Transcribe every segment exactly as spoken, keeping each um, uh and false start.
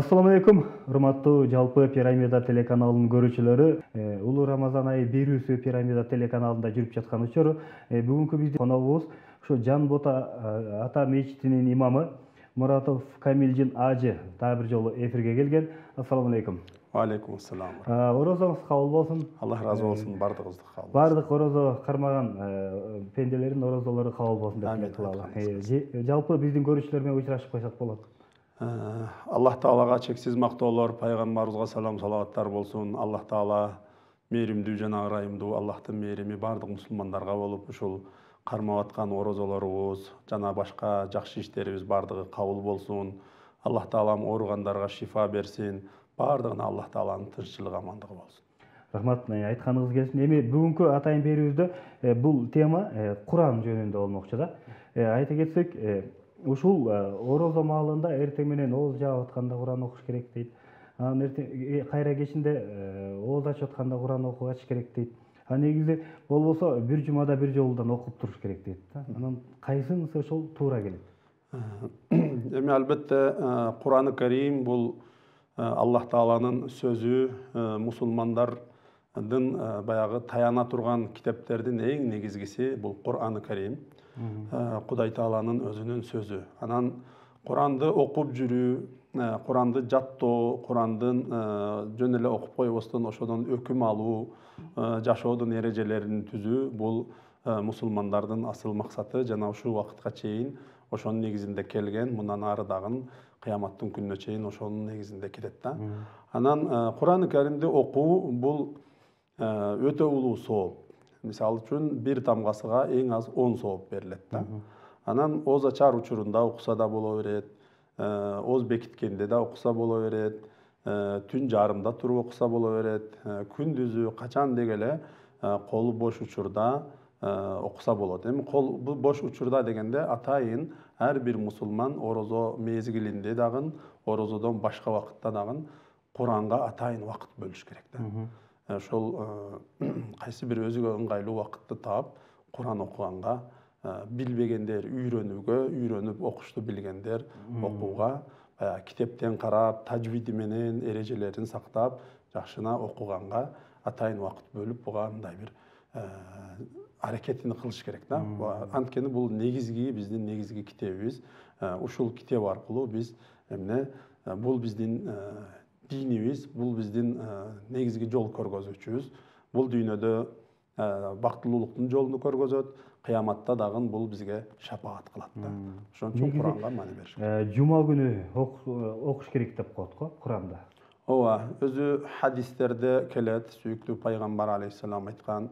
Assalamu alaikum, урматтуу жалпы Пирамида телеканалынын көрүүчүлөрү. Улуу Рамазан айы берүүсү Пирамида телеканалында жүрүп жаткан учур. Бүгүнкү биздин коногубуз ушу Жан Бота ата мечитинин имамы Муратов Камилжин ажы дагы бир жолу эфирге келген. Ассаламу алейкум. Алейкум ассалам. Орозоңуз кабыл болсун. Аллах разы болсун, бардыгыбызды кабыл. Бардык орозо кармаган пенделердин орозолору кабыл болсун деп тилек кылалы. Жалпы биздин көрүүчүлөр менен учурашып койсок болот. Аллах Таалага чексиз мактоолор, пайгамбарыбызга салам салаваттар болсун. Аллах Таала мээримдүү жана ырайымдуу, Аллахтын мээрими бардык мусулмандарга болуп, ушул кармап аткан орозолорубуз жана башка жакшы иштерибиз бардыгы кабыл болсун. Аллах Таалам ооругандарга шифа берсин. Бардыгына Аллах Тааланын тынччылыгы, амандыгы болсун. Рахмат, айтканыңыз келсин. Эми бүгүнкү атайын берүүбүздө бул тема Куран жөнүндө болмокчу да. Айта кетсек, ушул орозо маалында эртең менен ооз жаап атканда Куран окуш керек дейт. Анан эртең кайра кечинде ооз ачып атканда Куран окуп ачыш керек дейт. А негизи болбосо бир жумада бир жолудан окуп туруш керек дейт да. Анан кайсынысы ошол туура келет? Эми албетте Куран-ы Карим бул Аллах Тааланын сөзү, мусулмандардын баягы таяна турган китептердин эң негизгиси бул Куран-ы Карим. Кудай Тааланын өзүнүн сөзү. Анан Куранды окуп жүрүү, Куранды жаттоо, Курандын жөн эле окуп койбостон ошодон өкүм алуу, жашоодун эрежелерин түзүү бул мусулмандардын асыл максаты жана ушул убакытка чейин ошонун негизинде келген, мындан ары дагы кыяматтын күнүнө чейин ошонун негизинде кетет да. Анан Куран-ы Каримди окуу бул өтө улуу сооп. Мисалы үчүн бир тамгасыга эң аз он сооп берилет да. Анан ооз ачар учурунда окуса да боло берет, ооз бекиткенде да окуса боло берет, түн жарымда туруп окуса боло берет, күндүзү качан дегеле колу бош учурда окуса болот. Эми кол бош учурда дегенде атайын ар бир мусулман орозо мезгилинде дагы, орозодон башка убакытта дагы Куранга атайын убакыт бөлүш керек да. Ошол кайсы бир өзүгө ыңгайлуу убакытты таап Куран окуганга, билбегендер үйрөнүүгө, үйрөнүп окушту билгендер окууга, китептен карап, тажвиди менен эрежелерин сактап, жакшына окуганга атайын убакыт бөлүп буга мындай бир аракетин кылыш керек да. Анткени бул негизги биздин негизги китебибиз. Ушул китеп аркылуу биз эмне бул биздин динибиз, бул биздин негизги жол көргөзүүчүбүз. Бул дүйнөдө бактылуулуктун жолун көргөзөт, кыяматта дагы бул бизге шапаат кылат да. Ошон үчүн Куранга маани бериш керек. Жума күнү окуш керек деп коет го Куранда. Ооба, өзү хадистерде келет, сүйүктүү пайгамбар алейхиссалам айткан,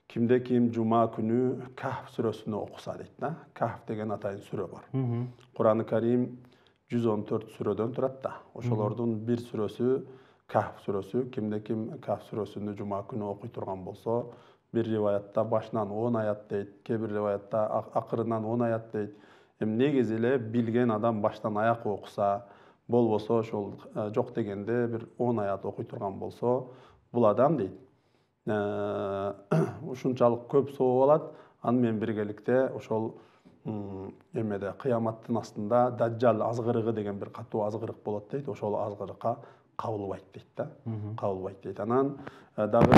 кимде ким жума күнү Кахф сүрөсүнө окуса дейт да. Кахф деген атайын сүрө бар. Куран-ы Карим жүз он төрт сүрөдөн турат да. Ошолордун бир сүрөсү Кахф сүрөсү. Кимде ким Кахф сүрөсүнү жума күнү окуй турган болсо, бир риваятта башынан он аят дейт, кээ бир риваятта акырынан он аят дейт. Эми негизи эле билген адам баштан аяк окуса, болбосо ошол жок дегенде бир он аят окуй турган болсо, бул адам дейт ушунчалык көп сооп алат. Аны менен биргеликте ошол эмеде кыяматтын астында Даджал азгырыгы деген бир катуу азгырык болот дейт. Ошол азгырыкка кабылбайт дейт да. Кабылбайт дейт. Анан дагы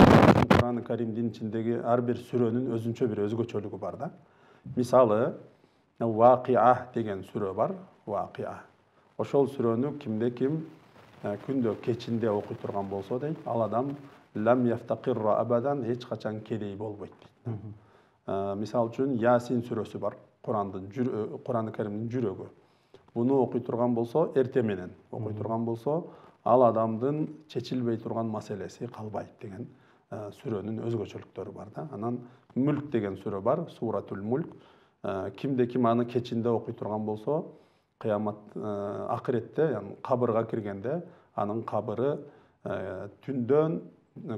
Куран-ы Каримдин ичиндеги ар бир сүрөнүн өзүнчө бир өзгөчөлүгү бар да. Мисалы, Вакиа деген сүрө бар. Вакиа. Ошол сүрөнү кимде ким күндө кечинде окуй турган болсо дейт, ал адам лам яфтакирра абадан, эч качан кедей болбойт дейт. Мисалы үчүн Ясин сүрөсү бар. Курандын Куран-ы Каримдин жүрөгү. Буну окуй турган болсо, эрте менен окуй турган болсо, ал адамдын чечилбей турган маселеси калбайт деген сүрөнүн өзгөчөлүктөрү бар да. Анан Мүлк деген сүрө бар, Суратул Мүлк. Кимде ким аны кечинде окуй турган болсо, кыямат акыретте, яны кабырга киргенде, анын кабыры түндөн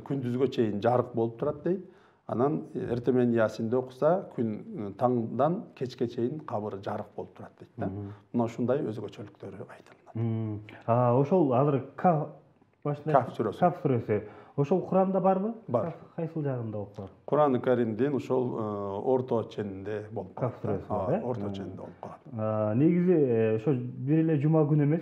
күндүзгө чейин жарык болуп турат дейт. Анан эрте менен Ясинде окуса, күн таңдан кечке чейин кабыры жарык болуп турат дейт да. Мына ушундай өзгөчөлүктөрү айтылат. А ошол азыр Кахф сүрөсү. Кахф сүрөсү. Ошол Куранда барбы? Бар. Кайсыл жагында окуп? Куран-ы Каримдин ошол орто ченинде болуп калат. Кахф сүрөсү, орто ченинде болуп калат. Негизи ошо бир эле жума күнү эмес.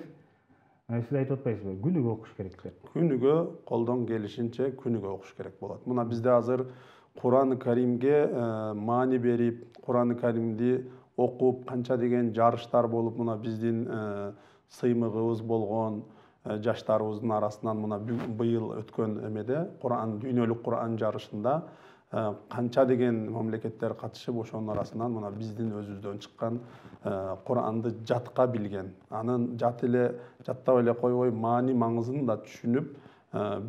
Сиз айтып атпайсызбы, күнүгө окуш керек деп? Күнүгө колдон келишинче күнүгө окуш керек болот. Мына бизде азыр Кур'ан-ы Каримге маани берип, Кур'ан-ы Каримди окуп, канча деген жарыштар болуп, мына биздин сыймыгыбыз болгон жаштарыбыздын арасынан мына быйыл өткөн эмеде Кур'ан дүйнөлүк Кур'ан жарышында канча деген мамлекеттер катышып, ошонун арасынан мына биздин өзүбүздөн чыккан Кур'анды жатка билген, анын жат эле жаттап эле койбой маани маңызын да түшүнүп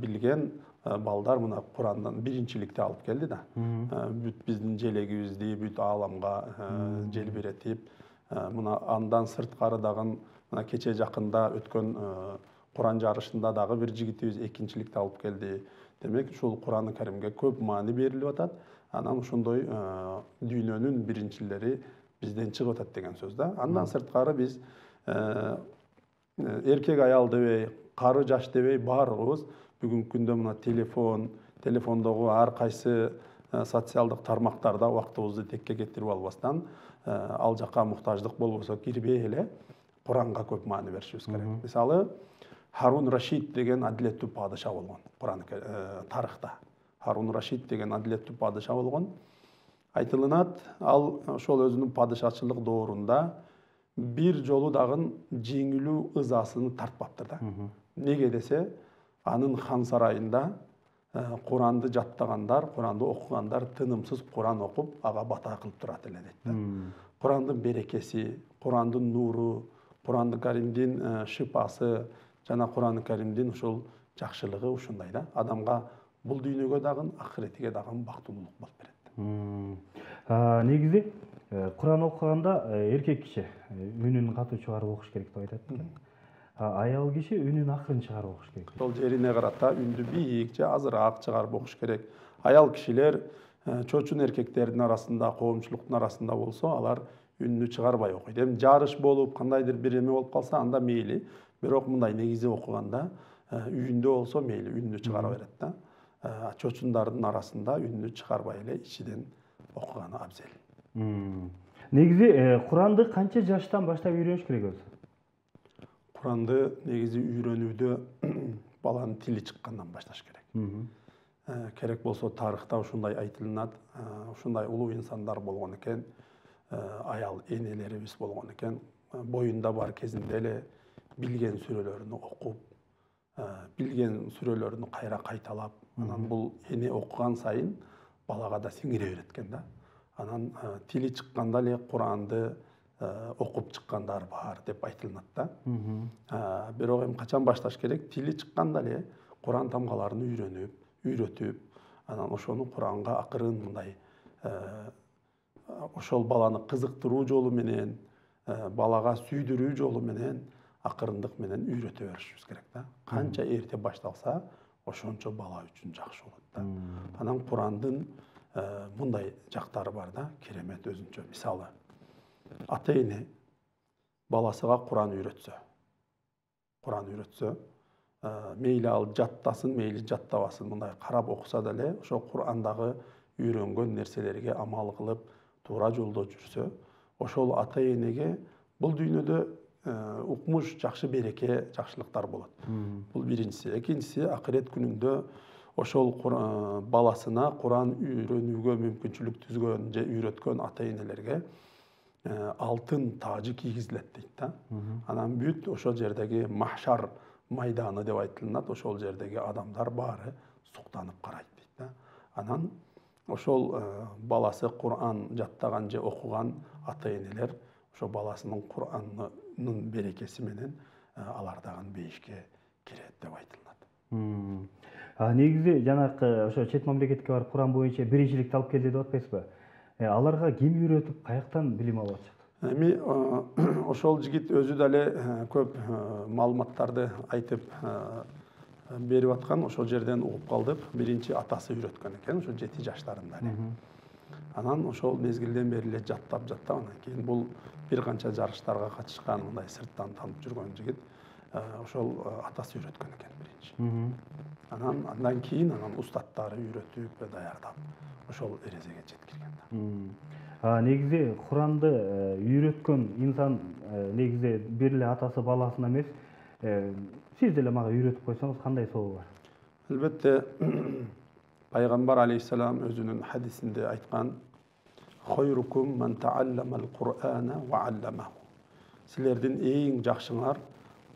билген балдар мына Курандан биринчиликти алып келди да. Бүт биздин желегибизди бүт ааламга желбиретип, мына андан сырткары дагы мына кече жакында өткөн Куран жарышында дагы бир жигитибиз экинчиликти алып келди. Демек, ушул Кур'ан-ы Каримге көп маани берилип атат. Анан ошондой дүйнөнүн биринчилери бизден чыгып атат деген сөз да. Андан сырткары биз эркек аял дебей, кары жаш дебей баарыбыз бүгүнкү күндө мына телефон, телефондогу ар кайсы социалдык тармактарда убактыбызды текке кетирип албастан, ал жака муктаждык болбосо кирбей эле Куранга көп маани беришибиз керек. Мисалы, Харун Рашид деген адилеттүү падыша болгон Куран тарыхта. Харун Рашид деген адилеттүү падыша болгон. Айтылынат, ал ошол өзүнүн падышачылык доорунда бир жолу дагы жеңилүү ызасын тартпаптыр да. Неге десе, анын хан сарайында Куранды жаттагандар, Куранды окугандар тынымсыз Куран окуп, ага бата кылып турат эле дейт. Курандын берекеси, Курандын нуру, Куран-ы Каримдин шыпасы жана Куран-ы Каримдин ушул жакшылыгы ушундай да. Адамга бул дүйнөгө дагы, акыретиге дагы бактылуулук болуп берет. Негизи Куран окуганда эркек киши үнүн катуу чыгарып окуш керек деп айтат экен. Аял киши үнүн акырын чыгарып окуш керек. Сол жерине карата үндү бийик же азыраак чыгарып окуш керек. Аял кишилер чочун эркектердин арасында, коомчулуктун арасында болсо, алар үнүнү чыгарбай окуйт. Эми жарыш болуп, кандайдыр бир эме болуп калса, анда мейли. Бирок мындай негизи окуганда үйүндө болсо мейли үнүнү чыгара берет да. Чочундардын арасында үнүнү чыгарбай эле ичиден окуганы абзел. Негизи Куранды канча жаштан баштап үйрөнүш керек өзү? Куранды негизи үйрөнүүдө баланын тили чыккандан башташ керек. Керек болсо тарыхта ушундай айтылынат, ушундай улуу инсандар болгон экен, аял энелерибиз болгон экен, боюнда бар кезинде эле билген сүрөлөрүнү окуп, билген сүрөлөрүнү кайра кайталап, анан бул эне окуган сайын балага да сиңире берет экен да. Анан тили чыкканда эле Куранды окуп чыккандар бар деп айтылынат да. Бирок эми качан башташ керек? Тили чыкканда эле Куран тамгаларын үйрөнүп, үйрөтүп, анан ошону Куранга акырын мындай ошол баланы кызыктыруу жолу менен, балага сүйдүрүү жолу менен акырындык менен үйрөтө беришибиз керек да. Канча эрте башталса, ошончо бала үчүн жакшы болот да. Анан Курандын мындай жактары бар да, керемет өзүнчө. Мисалы, ата эне баласыга Куран үйрөтсө, Куран үйрөтсө, мейли ал жаттасын, мейли жаттабасын, мындай карап окуса деле, ошо Курандагы үйрөнгөн нерселерге амал кылып, туура жолдо жүрсө, ошол ата энеге бул дүйнөдө укмуш, жакшы береке, жакшылыктар болот. Бул биринчиси. Экинчиси, акырет күнүндө ошол баласына Куран үйрөнүүгө мүмкүнчүлүк түзгөн же үйрөткөн ата энелерге алтын тажы кийгизилет дейт да. Анан бүт ошол жердеги махшар майданы деп айтылат, ошол жердеги адамдар баары суктанып карайт дейт да. Анан ошол баласы Куран жаттаган же окуган ата энелер ошо баласынын Куранынын берекеси менен алар дагы бейишке кирет деп айтылат. Негизи жанакы ошо чет мамлекетке барып Куран боюнча биринчиликти алып келди деп атпайсызбы? Аларга ким үйрөтүп, каяктан билим алып атышат? Эми ошол жигит өзү деле көп маалыматтарды айтып берип аткан, ошол жерден угуп калдык. Биринчи атасы үйрөткөн экен, ошо жети жаштарында эле. Анан ошол мезгилден бери эле жаттап жаттап, анан кийин бул бир канча жарыштарга катышкан, мындай сырттан танып жүргөн жигит. Ошол атасы үйрөткөн экен биринчи. Анан андан кийин анан устаттары үйрөтүп, даярдап, ошол эрежеге жеткирген да. Негизи Куранды үйрөткөн инсан негизи бир эле атасы баласына эмес, сиз деле мага үйрөтүп койсоңуз кандай сообу бар? Албетте, пайгамбар алейхиссалам өзүнүн хадисинде айткан: "Хойрукум ман таалламал Кур'ана ва алламаху". Силердин эң жакшыңар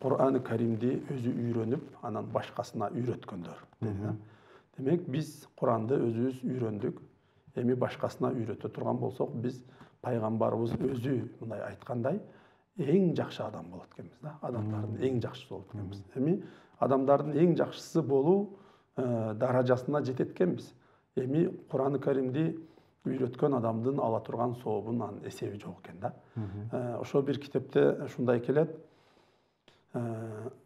Кур'аны Каримди өзү үйрөнүп, анан башкасына үйрөткөндөр dedi. Демек, биз Куранды өзүбүз үйрөндүк. Эми башкасына үйрөтө турган болсок, биз пайгамбарыбыз өзү мындай айткандай эң жакшы адам болот экенбиз да. Адамдардын эң жакшысы болот экенбиз. Эми адамдардын эң жакшысы болуу даражасына жетет экенбиз. Эми Кур'аны Каримди үйрөткөн адамдын ала турган сообунун эсеби жок экен да. Ошо бир китепте ушундай келет.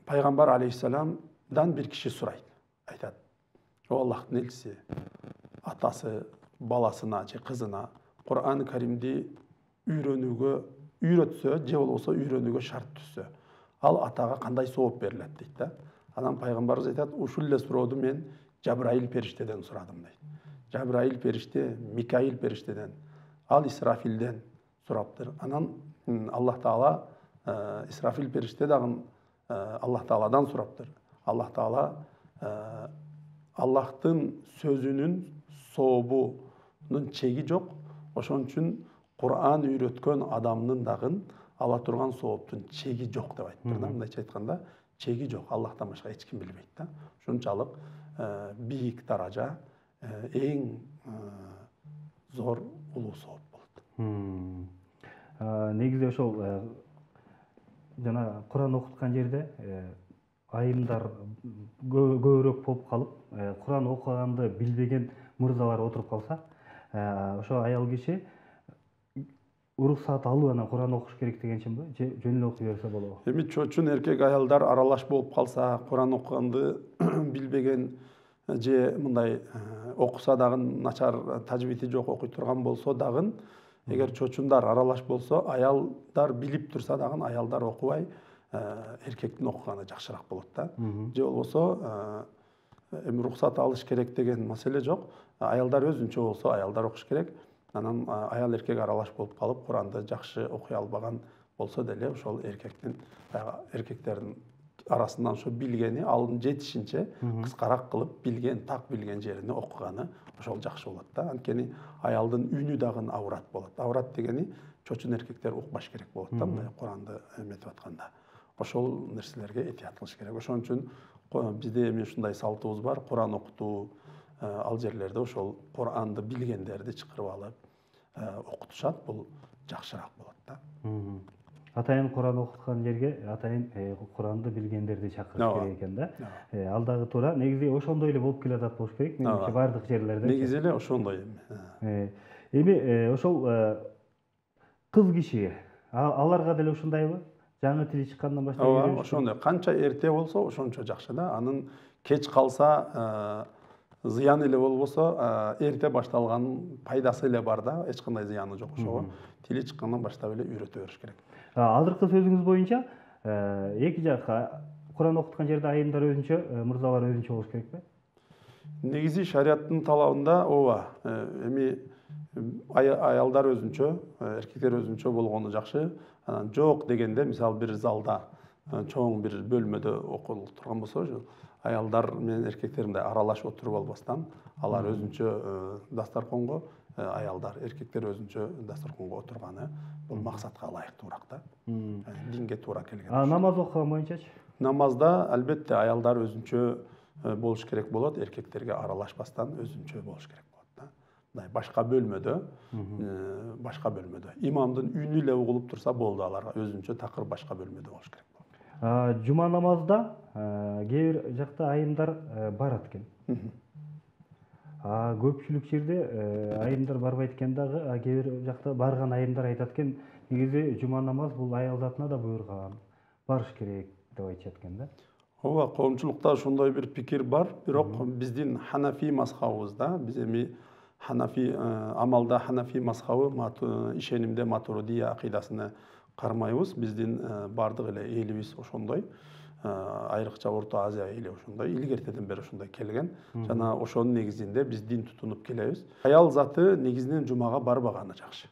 Пайгамбар алейхиссаламдан бир киши сурайт. Айтат: "О Аллахтын элчиси, атасы баласына же кызына Кур'аны Каримди үйрөнүүгө үйрөтсө, же болбосо үйрөнүүгө шарт түзсө, ал атага кандай сооп берилет?" дейт да. Анан пайгамбарыбыз айтат: "Ушул эле сурооду мен Жабраил периштеден сурадым" дейт. Жабраил периште, Микаил периштеден, ал Исрафилден сураптыр. Анан Аллах Таала Исрафил периште дагы Аллах Тааладан сураптыр. Аллах Таала Аллахтын сөзүнүн сообунун чеги жок. Ошон үчүн Кур'ан үйрөткөн адамдын дагы ала турган сооптун чеги жок деп айтыптыр да. Мындайча айтканда, чеги жок. Аллахтан башка эч ким билбейт да. Ушунчалык бийик даража, эң зор улуу сооп болот. Негизи ошол жана Кур'ан окуткан жерде айымдар көбүрөөк болуп калып, Кур'ан окуганды билбеген мырзалар отуруп калса, ошо аял киши уруксаат алып анан Кур'ан окуш керек дегенченби? Же жөн эле окуй берсе болобу? Эми чоочун эркек аялдар аралаш болуп калса, Кур'ан окуганды билбеген же мындай окуса дагы начар тажвити жок окуй турган болсо дагы, эгер чоочундар аралаш болсо, аялдар билип турса дагы аялдар окубай, эркектин окуганы жакшыраак болот да. Же болбосо эми уруксат алыш керек деген маселе жок. Аялдар өзүнчө болсо, аялдар окуш керек. Анан аял эркек аралаш болуп калып, Куранды жакшы окуй албаган болсо деле, ошол эркектин эркектердин арасынан ошо билгени, алын жетишинче кыскараак кылып, билген, так билген жерине окуганы ошол жакшы болот да. Анткени аялдын үнү дагы аврат болот. Аврат дегени чоочун эркектер укпаш керек болот да, мындай Куранды эметип атканда. Ошол нерселерге этият кылыш керек. Ошон үчүн бизде эми ушундай салтыбыз бар. Куран окутуу, ал жерлерде ошол Куранды билгендерди чакырып алып окутушат. Бул жакшыраак болот да. Атайын Куран окуткан жерге атайын Куранды билгендерди чакырыш керек экен да. Ал дагы туура. Негизи ошондой эле болуп келатат болуш керек. Менимче бардык жерлерде. Негизи эле ошондой эми. Эми ошол кыз киши, аларга деле ушундайбы? Жаңы тили чыккандан баштап Ооба, ошондой. Канча эрте болсо, ошончо жакшы да. Анын кеч калса зыян эле болбосо, эрте башталганын пайдасы эле бар да, эч кандай зыяны жок ошого. Тили чыккандан баштап эле үйрөтө бериш керек. Азыркы сөзүңүз боюнча, эки жакка Куран окуткан жерде айымдар өзүнчө, мырзалар өзүнчө болуш керекпи? Негизи шариаттын талабында ооба. Эми аялдар өзүнчө, эркектер өзүнчө болгону жакшы. Анан жок дегенде, мисалы бир залда, чоң бир бөлмөдө окулуп турган болсо, аялдар менен эркектер мындай аралаш отуруп албастан, алар өзүнчө дастарконго, аялдар, эркектер өзүнчө дастарконго отурганы бул максатка ылайыктуураак да. Динге туура келген. А намаз окуган боюнчачы? Намазда албетте аялдар өзүнчө болуш керек болот, эркектерге аралашпастан өзүнчө болуш керек болот да. Мындай башка бөлмөдө, башка бөлмөдө. Имамдын үнү эле угулуп турса болду, аларга өзүнчө такыр башка бөлмөдө болуш керек болот. Жума намазда кээ бир жакта айымдар барат экен. А көпчүлүк жерде айымдар барбайт экен дагы, кээ бир жакта барган айымдар айтат экен, негизи жума намаз бул аял затына да буйрган, барыш керек деп айтышат экен да. Ооба, коомчулукта ошондой бир пикир бар, бирок биздин Ханафи мазхабыбызда, биз эми Ханафи амалда Ханафи мазхабы, ишенимде Матуридия акыйдасына кармайбыз. Биздин бардык эле элибиз ошондой. Айрыкча Орто Азия эли ошондой, илгертеден бери ошондой келген. Жана ошонун негизинде биз дин тутунуп келебиз. Аял заты негизинен жумага барбаганы жакшы.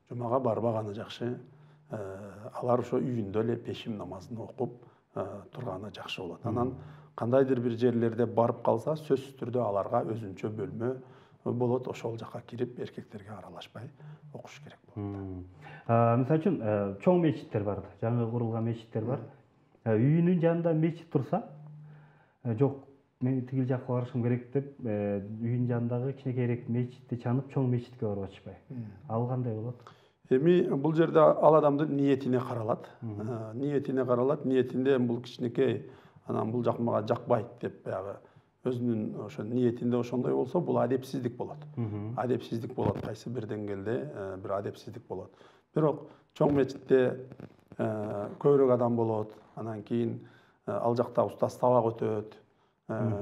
Жумага барбаганы жакшы. Алар ошо үйүндө эле пешим намазын окуп, турганы жакшы болот. Анан кандайдыр бир жерлерде барып калса, сөзсүз түрдө аларга өзүнчө бөлмө болот, ошол жака кирип эркектерге аралашпай окуш керек болот. Мисалы үчүн чоң мечиттер бар, жаңы курулган мечиттер бар. Үйүнүн жанында мечит турса, жок, мен тигил жакка барышым керек деп, үйүнүн жанындагы кичинекейирээк мечитти чанып, чоң мечитке барып атышпай. Ал кандай болот? Эми бул жерде ал адамдын ниетине каралат. Ниетине каралат, ниетинде бул кичинекей, анан бул жак мага жакпайт деп баягы өзүнүн ошо ниетинде ошондой болсо, бул адепсиздик болот. Адепсиздик болот, кайсы бир деңгээлде бир адепсиздик болот. Бирок чоң мечитте көбүрөөк адам болот, анан кийин ал жакта устаз сабак өтөт,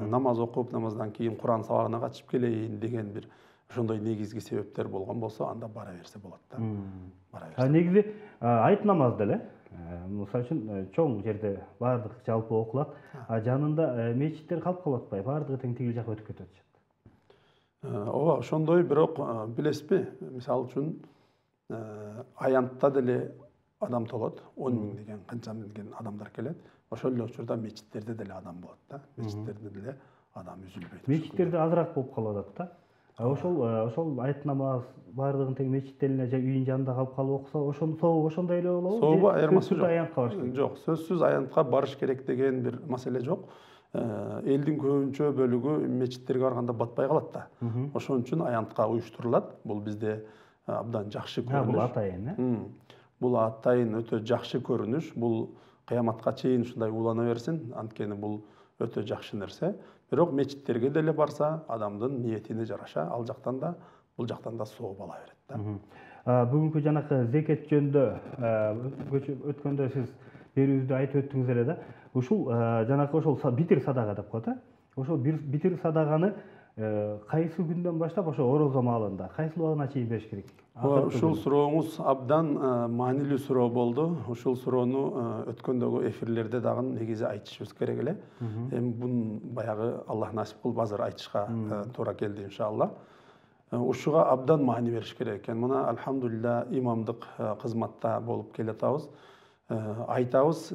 намаз окуп, намаздан кийин Куран сабагына катышып келейин деген бир ошондой негизги себептер болгон болсо, анда бара берсе болот да. Бара берсе. Негизи айт намаз деле, мисалы үчүн чоң жерде баардык жалпы окулат, а жанында мечиттер калып калып атпайбы, баардыгы тең тигил жака өтүп кетип атышат. Ооба, ошондой, бирок билесизби, мисалы үчүн аянтта деле адам толот, он миң деген, канча миңдеген адамдар келет. Ошол эле учурда мечиттерде деле адам болот да. Мечиттерде деле адам үзүлбөйт. Мечиттерде азыраак болуп калып атат да. Ошол ошол айт намаз баардыгын тең мечитте эле же үйүнүн жанында калып калып окуса, ошону сообу ошондой эле болобу? Сообу айырмасы жок. Аянтка барыш керек. Жок, сөзсүз аянтка барыш керек деген бир маселе жок. Элдин көбүнчө бөлүгү мечиттерге барганда батпай калат да. Ошон үчүн аянтка уюштурулат. Бул бизде абдан жакшы көрүнүш. Бул атайын, э? Бул атайын өтө жакшы көрүнүш. Бул кыяматка чейин ушундай улана берсин, анткени бул өтө жакшы нерсе. Бирок мечиттерге деле барса, адамдын ниетине жараша, ал жактан да, бул жактан да сооп ала берет да. Бүгүнкү жанакы зекет жөнүндө өткөндө сиз берүүбүздө айтып өттүңүз эле да. Ушул жанакы ошол битир садага деп коет, э? Ошол битир садаганы кайсы күндөн баштап ошо орозо маалында, кайсы убагына чейин бериш керек? Ушул сурооңуз абдан маанилүү суроо болду. Ушул суроону өткөндөгү эфирлерде дагы негизи айтышыбыз керек эле. Эми бун баягы Аллах насип кылып азыр айтышка туура келди иншалла. Ушуга абдан маани бериш керек экен. Мына альхамдулилля имамдык кызматта болуп келатабыз. Айтабыз,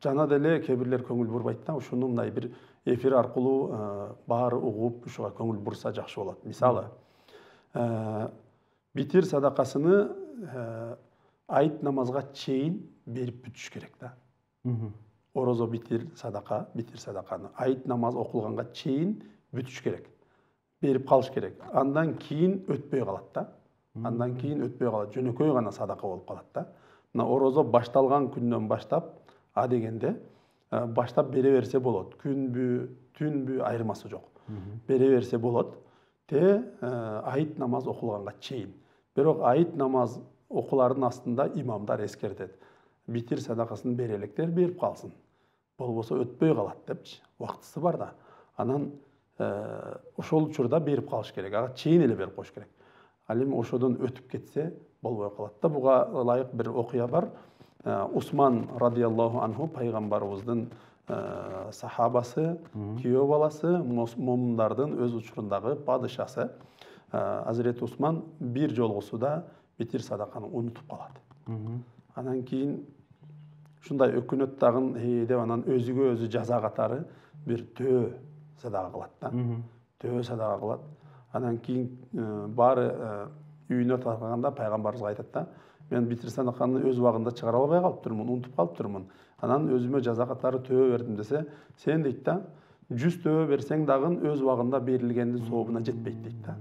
жана деле кээ бирлер көңүл бурбайт да. Ушуну мындай бир эфир аркылуу баары угуп, ушуга көңүл бурса жакшы болот. Мисалы, битир садакасыны айт намазга чейин берип бүтүш керек да. Орозо битир садака, битир садаканы айт намаз окулганга чейин бүтүш керек. Берип калыш керек. Андан кийин өтпөй калат да. Андан кийин өтпөй калат. Жөнөкөй гана садака болуп калат да. Мына орозо башталган күндөн баштап, а дегенде баштап бере берсе болот. Күнбү, түнбү айырмасы жок. Бере берсе болот. Те айт намаз окулганга чейин. Бирок айт намаз окулардын астында имамдар эскертет. Битир садакасын бере электер берип калсын. Болбосо өтпөй калат депчи. Убактысы бар да. Анан ошол учурда берип калыш керек. Ага чейин эле берип коюш керек. Ал эми ошодон өтүп кетсе болбой калат да. Буга ылайык бир окуя бар. Усман радиаллаху анху пайгамбарыбыздын сахабасы, күйөө баласы, момундардын өз учурундагы падышасы. Азирет Усман бир жолгусуда битир садаканы унутуп калат. Анан кийин ушундай өкүнөт дагы деп анан өзүгө өзү жаза катары бир төө садака кылат да. Төө садака кылат. Анан кийин баары үйүнө таркаганда пайгамбарыбызга айтат да: "Мен битир садаканы өз убагында чыгара албай калыптырмын, унутуп калыптырмын. Анан өзүмө жаза катары төө бердим" десе, сен дейт да, жүз төө берсең дагы өз убагында берилгендин сообуна жетпейт дейт да.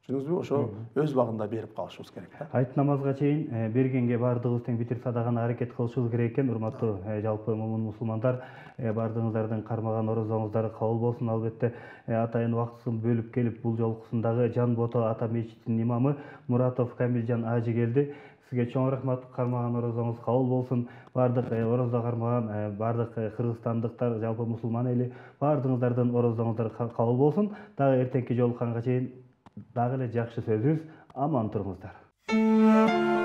Түшүндүңүзбү? Ошо өз убагында берип калышыбыз керек да. Айт намазга чейин бергенге баардыгыбыз тең битир садаканы аракет кылышыбыз керек экен. Урматтуу жалпы момун мусулмандар, баардыгыңыздардын кармаган орозоңуздар кабыл болсун. Албетте атайын убактысын бөлүп келип бул жолкусундагы Жан Бото ата мечитинин имамы Муратов Камилжан ажы келди. Сизге чоң рахмат, кармаган орозоңуз кабыл болсун. Баардык орозо кармаган баардык кыргызстандыктар, жалпы мусулман эли баардыгыңыздардын орозоңуздар кабыл болсун. Дагы эртеңки жолукканга чейин дагы эле жакшы сөзүбүз, аман туруңуздар.